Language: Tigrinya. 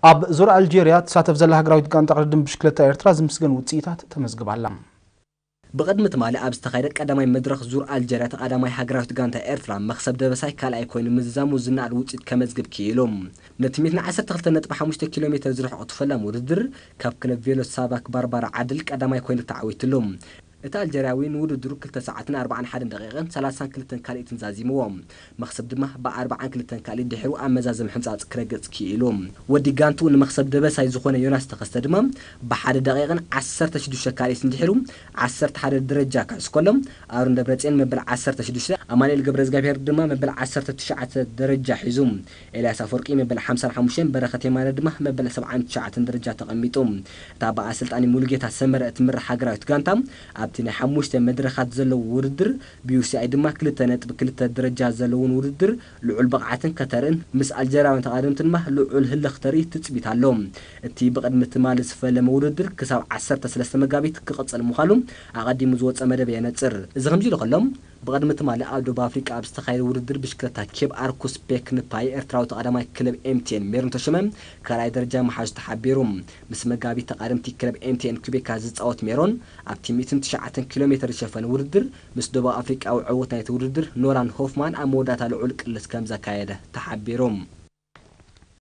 ኣብ ዙር ኣልጀርያ ትሳተፍ ዘላ ሃገራዊት ጋንታ ቅድድም ብሽክለታ ኤርትራ ዝምስገን ውፅኢታት ተመዝግባላ። ብቕድሚ ትማሊ ኣብ ዝተኻየደ ቀዳማይ መድረኽ ዙር ኣልጀርያ፣ ተቐዳማይ ሃገራዊት ጋንታ ኤርትራ መኽሰብ ደበሳይ ካልኣይ ኮይኑ ምዝዛሙ ዝነኣድ ውፅኢት ከመዝግብ ክኢሉ። ነቲ ሚእትን ዓሰርተ ክልተ ነጥቢ ሓሙሽተ ኪሎ ሜትር ዝርሕቕ እቲ ፈላሚ ውድድር፣ ካብ ክለብ ቬሎ ሳባክ ባርባራ ዓድል ቀዳማይ ኮይኑ ተዓዊትሉ። እቲ ኣልጀርያዊ ንውድድሩ ክልተ ሰዓትን ኣርባዓን ሓደን ደቂቕን ሰላሳን ክልተን ካልኢትን ዛዚምዎ። መኽሰብ ድማ ብኣርባዓን ክልተን ካልኢት ድሒሩ ኣብ መዛዘሚ ሕንጻጽ ክረግጽ ክኢሉ። ወዲ ጋንቱ ንመኽሰብ ደበሳይ ዝኾነ ዮናስ ተኸስተ ድማ ብሓደ ደቂቕን ዓሰርተ ሽዱሽተ ካልኢትን ድሒሩ ዓሰርተ ሓደ ደረጃ ክሕዝ ከሎ፣ ኣሮን ደብረጽዮን መበል ዓሰርተ ሽዱሽተ፣ ኣማኑኤል ገብረዝጋብሄር ድማ መበል ዓሰርተ ትሽዓተ ደረጃ ሒዙ። ኤልያስ ኣፈወርቂ መበል ሓምሳን ሓሙሽተን፣ በረኸት የማነ ድማ መበል ሰብዓን ትሽዓተን ደረጃ ተቐሚጡ። እታ ብኣሰልጣኒ ሙሉጌታ ሰመረ እትምራሕ ሃገራዊት ጋንታ ኣብቲ ናይ ሓሙሽተ መድረኻት ዘለዎ ውድድር፣ ብዩሲኣይ ድማ ክልተ ነጥቢ ክልተ ደረጃ ዘለውን ውድድር ልዑል ብቕዓትን ከተርእን፣ ምስ ኣልጀርያውያን ተቓደምቲ ድማ ልዑል ህልኽ ተርኢ ትጽቢት ኣሎ። እቲ ብቕድሚ ትማሊ ዝፈለመ ውድድር ክሳብ ዓሰርተ ሰለስተ መጋቢት ክቕጽል ምዃኑ ኣቐዲሙ ዝወጸ መደብ የነጽር። እዚ ከምዚ ኢሉ ከሎ፣ ብቕድሚ ትማሊ ኣብ ደቡብ ኣፍሪቃ ኣብ ዝተኻየደ ውድድር ብሽክለታ ኬብ ኣርኩስ ፔክ ንፓይ ኤርትራዊ ተቐዳማይ ክለብ ኤምቲኤን ሜሮን ተሾመ ካልኣይ ደረጃ ምሓዙ ተሓቢሩ። ምስ መጋቢት ተቓደምቲ ክለብ ኤምቲኤን ኩቤካ ዝጻወት ሜሮን፣ ኣብቲ ሚእትን ትሽዓተን ኪሎ ሜትር ዝሸፈነ ውድድር ምስ ደቡብ ኣፍሪቃዊ ዕዉት ናይቲ ውድድር ኖላን ሆፍማን ኣብ መወዳእታ ልዑል ቅልስ ከም ዘካየደ ተሓቢሩ።